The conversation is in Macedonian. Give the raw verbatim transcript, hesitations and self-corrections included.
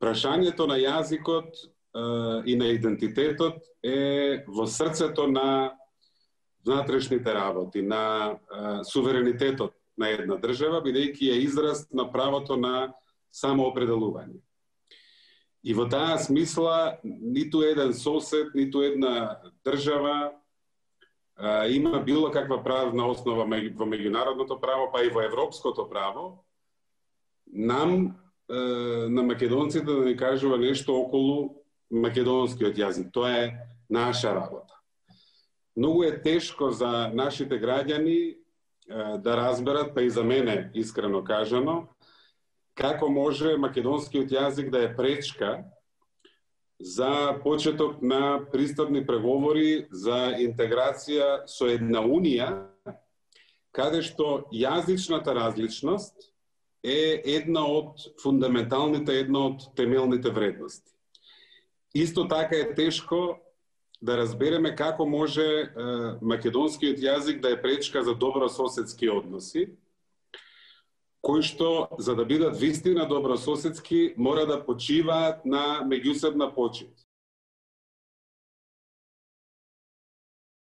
прашањето на јазикот и на идентитетот е во срцето на внатрешните работи, на суверенитетот на една држава, бидејќи е израз на правото на самоопределување. И во таа смисла, ниту еден сосед, ниту една држава а, има било каква правна основа во меѓународното право, па и во европското право, нам, е, на македонците, да ни кажува нешто околу македонскиот јазик. Тоа е наша работа. Многу е тешко за нашите граѓани е, да разберат, па и за мене, искрено кажано, како може македонскиот јазик да е пречка за почеток на пристапни преговори за интеграција со една унија, каде што јазичната различност е една од фундаменталните, една од темелните вредности. Исто така е тешко да разбереме како може е, македонскиот јазик да е пречка за добрососедски односи, кои што, за да бидат вистина добрососедски, мора да почиваат на меѓусебна почит.